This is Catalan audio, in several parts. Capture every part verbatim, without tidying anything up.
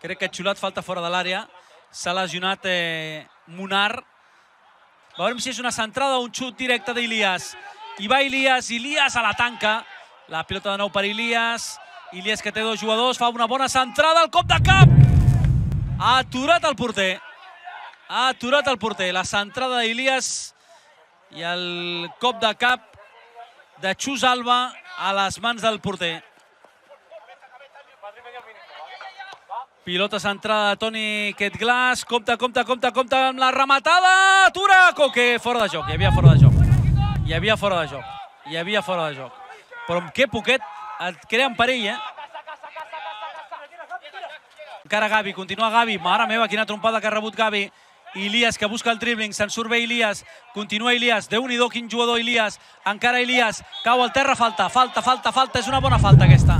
Crec que ha xulat falta fora de l'àrea. S'ha lesionat eh, Munar. Veurem si és una centrada o un xut directe d'Ilias. I va Ilias, Ilias a la tanca. La pilota de nou per Ilias. Ilias que té dos jugadors, fa una bona centrada, el cop de cap. Ha aturat el porter. Ha aturat el porter. La centrada d'Ilias i el cop de cap de Xus Alba a les mans del porter. Pilota centrada de Toni Ketglas. Compte, compte, compte, compte amb la rematada. Atura Coque. Fora de joc. Hi havia fora de joc. Hi havia fora de joc. Hi havia fora de joc. Però amb què poquet et creen perill, eh? Encara Gavi. Continua Gavi. Mare meva, quina trompada que ha rebut Gavi. Ilias que busca el dribbling. Se'n surt bé Ilias. Continua Ilias. Déu-n'hi-do quin jugador Ilias. Encara Ilias. Cau al terra. Falta, falta, falta, falta. És una bona falta aquesta.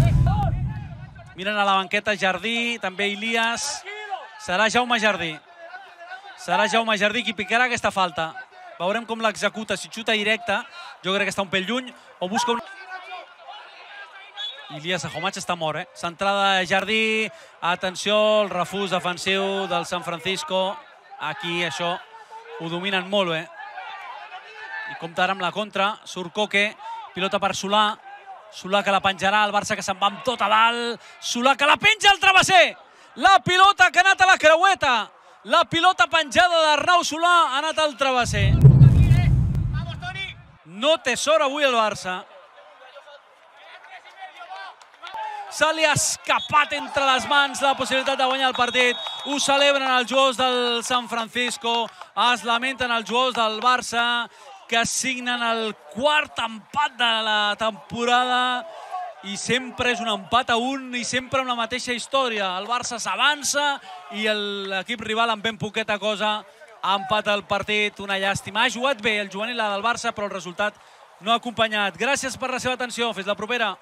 Miren a la banqueta Jardí, també Ilias. Serà Jaume Jardí. Serà Jaume Jardí qui picarà aquesta falta. Veurem com l'executa, si xuta directa. Jo crec que està un pèl lluny o busca un... Ilias Ahomach està mort, eh? Centrada de Jardí. Atenció, el refús defensiu del San Francisco. Aquí això ho dominen molt bé. I compta ara amb la contra. Surt Coque. Pilota per Solà. Solà que la penjarà, el Barça que se'n va amb tot a dalt. Solà que la penja al travesser. La pilota que ha anat a la creueta. La pilota penjada d'Arnau Solà ha anat al travesser. No té sort avui el Barça. Se li ha escapat entre les mans la possibilitat de guanyar el partit. Ho celebren els jugadors del San Francisco. Es lamenten els jugadors del Barça, que signen el quart empat de la temporada i sempre és un empat a un i sempre amb la mateixa història. El Barça s'avança i l'equip rival amb ben poqueta cosa empata el partit. Una llàstima. Ha jugat bé el juvenil del Barça, però el resultat no ha acompanyat. Gràcies per la seva atenció. Fins la propera.